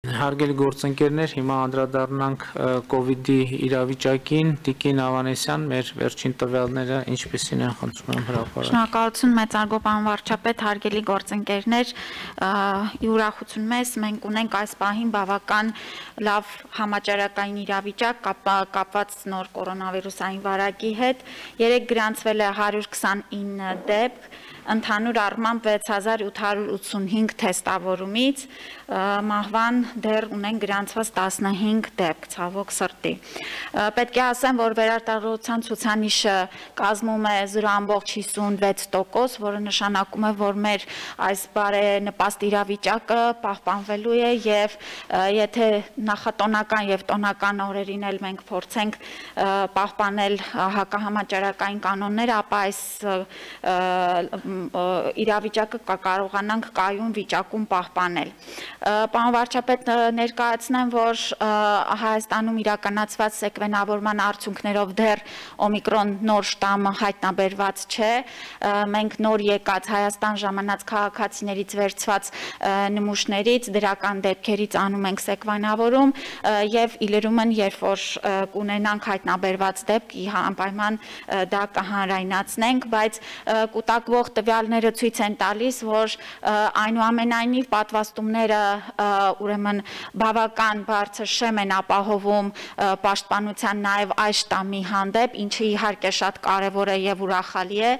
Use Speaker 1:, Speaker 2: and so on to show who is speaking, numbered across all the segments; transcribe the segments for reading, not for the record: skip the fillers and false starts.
Speaker 1: Հարգելի գործընկերներ, հիմա անդրադառնանք COVID-ի իրավիճակին, Տիկին Ավանեսյան, մեր վերջին տվյալները ինչպիսին են, խնդրում եմ հրապարակել։
Speaker 2: Շնորհակալություն մեծարգո պարոն վարչապետ, հարգելի գործընկերներ, ի ուրախություն մեզ մենք ունենք այս պահին բավական լավ համաճարակային իրավիճակ կապված նոր կորոնավիրուսային վարակի հետ։ Երեկ գրանցվել է 129 դեպք, ընդհանուր առմամբ 6885 թեստավորումից, մահվան դեռ ունեն գրանցված 15 դեպք, ցավոք սրտի։ Պետք է ասեմ, որ վերարտադրության ցուցանիշը կազմում է 0.56%, որը նշանակում է, որ մեր այս բարենպաստ իրավիճակը պահպանվելու է եւ եթե նախատոնական եւ տոնական օրերին էլ մենք փորձենք պահպանել հակահամաճարակային կանոնները, ապա այս իրավիճակը կարողանանք կայուն վիճակում պահպանել։ Պարոն վարչապետ, ներկայացնեմ, որ Հայաստանում իրականացված սեկվենավորման արդյունքներով դեռ օմիկրոն նոր շտամը հայտնաբերված չէ։ Մենք նոր եկած Հայաստան ժամանած քաղաքացիներից վերցված նմուշներից, դրական դեպքերից անում ենք սեկվենավորում եւ իլրումն, երբ որ կունենանք հայտնաբերված դեպք, անպայման դա կհանրայնացնենք, բայց կուտակվող տվյալները ցույց են տալիս, որ այնուամենայնիվ պատվաստումները ուրեմն բավական բարձր շեմ են ապահովում պաշտպանության նաև այս շտամի հանդեպ, ինչը իհարկե շատ կարևոր է եւ ուրախալի է,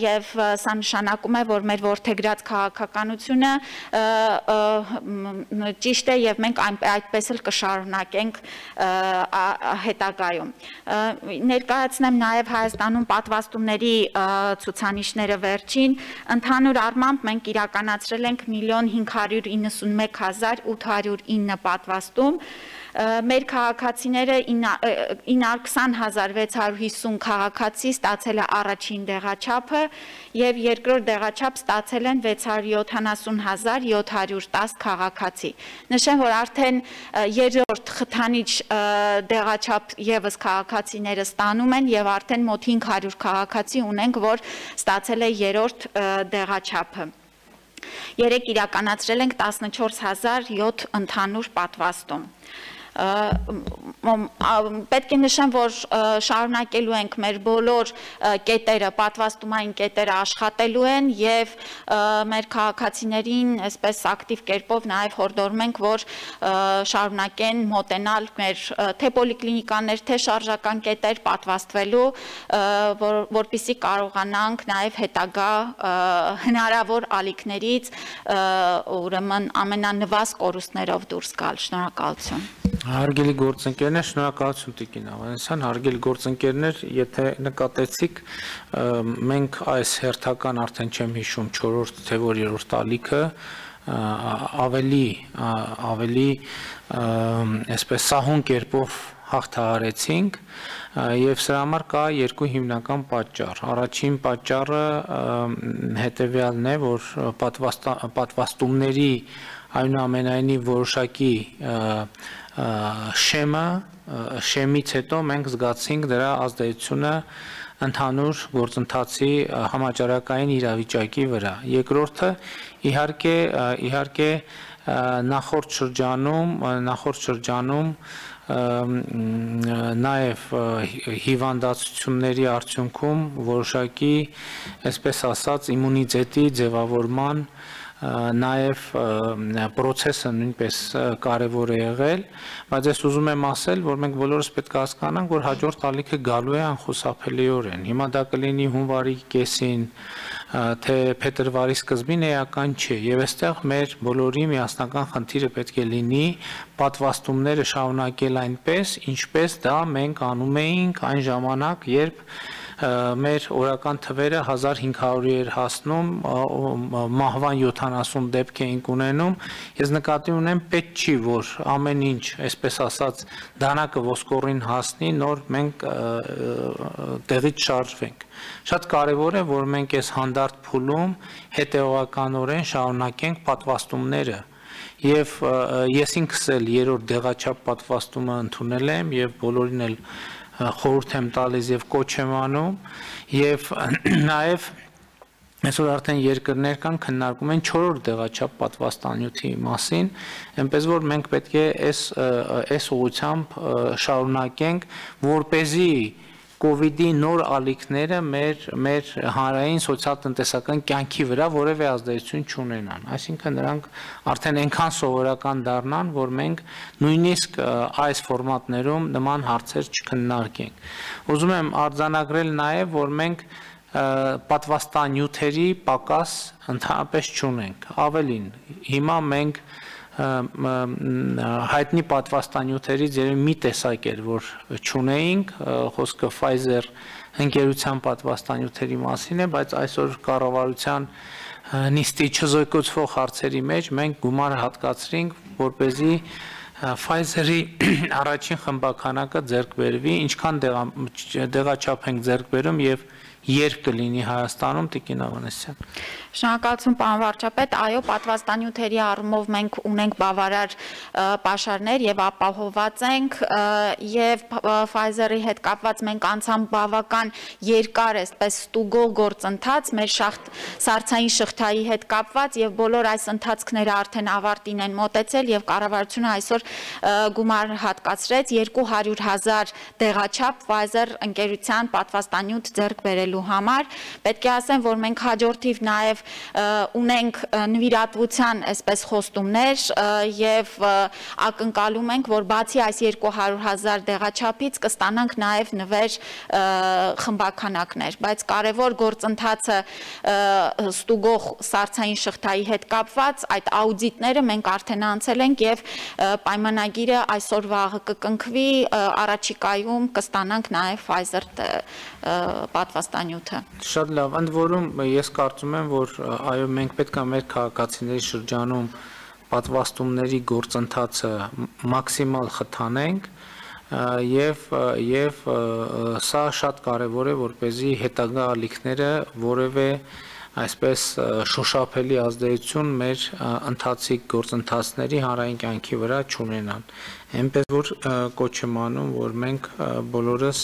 Speaker 2: եւ սա նշանակում է, որ մեր որդեգրած քաղաքականությունը ճիշտ է եւ մենք այդպես էլ կշարունակենք հետագայում։ Ներկայացնեմ նաև Հայաստանում պատվաստումների ցուցանիշները վերջին, ընդհանուր առմամբ մենք իրականացրել ենք 1.591.809 պատվաստում, մեր քաղաքացիները 920,650 քաղաքացի ստացել է առաջին դեղաչափը եւ երկրորդ դեղաչափ ստացել են 670,710 քաղաքացի։ Նշեմ, որ արդեն երրորդ խթանիչ դեղաչափ եւս քաղաքացիները ստանում են եւ արդեն մոտ 500 քաղաքացի ունենք, որ ստացել է երրորդ դեղաչափը։ Երեք իրականացրել ենք 14007 ընդհանուր պատվաստում։ Պետք է նշեմ, որ շարունակելու ենք մեր բոլոր կետերը, պատվաստումային կետերը աշխատելու են եւ մեր քաղաքացիներին այսպես ակտիվ կերպով նաեւ հորդորում ենք, որ շարունակեն մոտենալ մեր թե պոլիկլինիկաներ, թե շարժական կետեր պատվաստվելու, որպեսզի կարողանանք նաեւ հետագա հնարավոր ալիքներից ուրեմն ամենանվազ կորուստներով դուրս գալ։ Շնորհակալություն։
Speaker 1: Հարգելի գործընկերներ, շնորհակալություն Տիկին Ավանեսյան, հարգելի գործընկերներ, եթե նկատեցիք, մենք այս հերթական արդեն չեմ հիշում 4-րդ թե որ 3-րդ ալիքը ավելի այսպես սահուն կերպով հաղթահարեցինք եւ սրա համար կա երկու հիմնական պատճառ։ Առաջին պատճառը հետեւյալն է, որ պատվաստումների այնուամենայնիվ որոշակի շեմից հետո մենք զգացինք դրա ազդեցությունը ընդհանուր գործընթացի համաճարակային իրավիճակի վրա։ Երկրորդը իհարկե նախորդ շրջանում նաև հիվանդացությունների արդյունքում որոշակի, այսպես ասած, իմունիտետի ձևավորման նաև process-ը նույնպես կարևոր է եղել, բայց ես ուզում եմ ասել, որ մենք բոլորս պետք է հասկանանք, որ հաջորդ ալիքը գալու է անխուսափելիորեն։ Հիմա դա կլինի հունվարի կեսին, թե փետրվարի սկզբին էական չէ, եւ այստեղ մեր բոլորի միասնական խնդիրը պետք է լինի պատվաստումները շարունակել այնպես, ինչպես դա մենք անում էինք այն ժամանակ, երբ մեր օրական թվերը 1500-ի էր հասնում, մահվան 70 դեպք էինք ունենում, ես նկատի ունեմ պետք չի, որ ամեն ինչ, այսպես ասած, դանակը ոսկորին հասնի, նոր մենք տեղից շարժվենք։ Շատ կարևոր է, որ մենք այս հանդարտ փուլում հետևողականորեն շարունակենք պատվաստումները։ Եվ ես ինքս էլ երրորդ դեղաչափ պատվաստումը ընդունել եմ եւ բոլորին էլ խորհուրդ եմ տալիս եւ կոչ եմ անում եւ նաեւ Այսօր արդեն երկրներ կան քննարկում են 4-րդ դեղաչափ պատվաստանյութի մասին, այնպես որ մենք պետք է այս ուղղությամբ շարունակենք, որպեսզի COVID-ի նոր ալիքները մեր հանրային սոցիալ-տնտեսական կյանքի վրա որևէ ազդեցություն չունենան։ Այսինքն նրանք արդեն այնքան սովորական դառնան, որ մենք նույնիսկ այս ֆորմատներում նման հարցեր չքննարկենք։ Ուզում եմ արձանագրել նաև, որ մենք պատվաստանյութերի պակաս ընդհանրապես չունենք։ Ավելին, հիմա մենք հայտնի պատվաստանյութերից մի տեսակ էր, որ չունեինք, խոսքը Pfizer ընկերության պատվաստանյութերի մասին է, բայց այսօր կառավարության նիստի չզոկոցվող հարցերի մեջ մենք գումար հատկացրինք, որպեսզի Pfizer-ի առաջին խմբականակը ձեռք բերվի, ինչքան դեղաչափ ենք ձեռք բերում եւ երբ կլինի Հայաստանում, Տիկին Ավանեսյան։
Speaker 2: Շնորհակալություն, պարոն վարչապետ, այո, պատվաստանյութերի առումով մենք ունենք բավարար պաշարներ եւ ապահովված ենք եւ Pfizer-ի հետ կապված մենք անցամ բավական երկար այսպես ստուգող գործընթաց մեր սառցային շղթայի հետ կապված եւ բոլոր այս ընթացքները արդեն ավարտին են մոտեցել եւ կառավարությունը այսօր գումար հատկացրեց 200,000 դեղաչափ Pfizer ընկերության պատվաստանյութ ձեռք բերելու համար։ Պետք է ասեմ, որ մենք հաջորդիվ նաեւ ունենք նվիրատվության այսպես խոստումներ եւ ակնկալում ենք, որ բացի այս 200,000 դեղաչափից կստանանք նաեւ նվեր խմբականակներ, բայց կարևոր գործընթացը ստուգող սառցային շղթայի հետ կապված այդ աուդիտները մենք արդեն անցել ենք եւ պայմանագիրը այսօր վաղը կկնքվի, առաջիկայում կստանանք նաեւ Pfizer պատվաստանյութը։
Speaker 1: Շատ լավ, ընդ որում ես կարծում եմ, որ այո, մենք պետք է մեր քաղաքացիների շրջանում պատվաստումների գործընթացը մաքսիմալ խթանենք եւ սա շատ կարեւոր է, որպեսզի հետագա ալիքները որևէ այսպես շոշափելի ազդեցություն մեր ընթացիկ գործընթացների հանրային կյանքի վրա չունենան։ Այնպես որ կոչ եմ անում, որ մենք բոլորս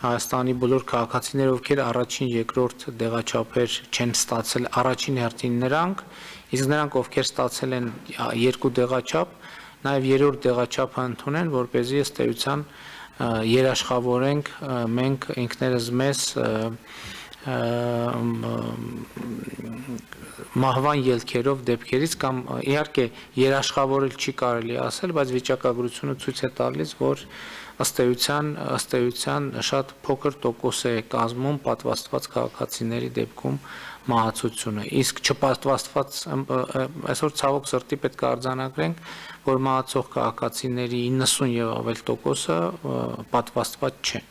Speaker 1: Հայաստանի բոլոր քաղաքացիները, ովքեր առաջին, երկրորդ դեղաչափեր չեն ստացել, առաջին հերթին նրանք, իսկ նրանք, ովքեր ստացել են 2 դեղաչափ, նաև 3-րդ դեղաչափը ընդունեն, որպեսզի ըստ էության երաշխավորենք մենք ինքներս մեզ մահվան ելքերով դեպքերից կամ իհարկե երաշխավորել չի կարելի ասել, բայց վիճակագրությունը ցույց է տալիս, որ ըստ էության շատ փոքր տոկոս է կազմում պատվաստված քաղաքացիների դեպքում մահացությունը, իսկ չպատվաստված այսօր ցավոք սրտի պետք է արձանագրենք, որ մահացող քաղաքացիների 90 եւ ավել տոկոսը պատվաստված չեն։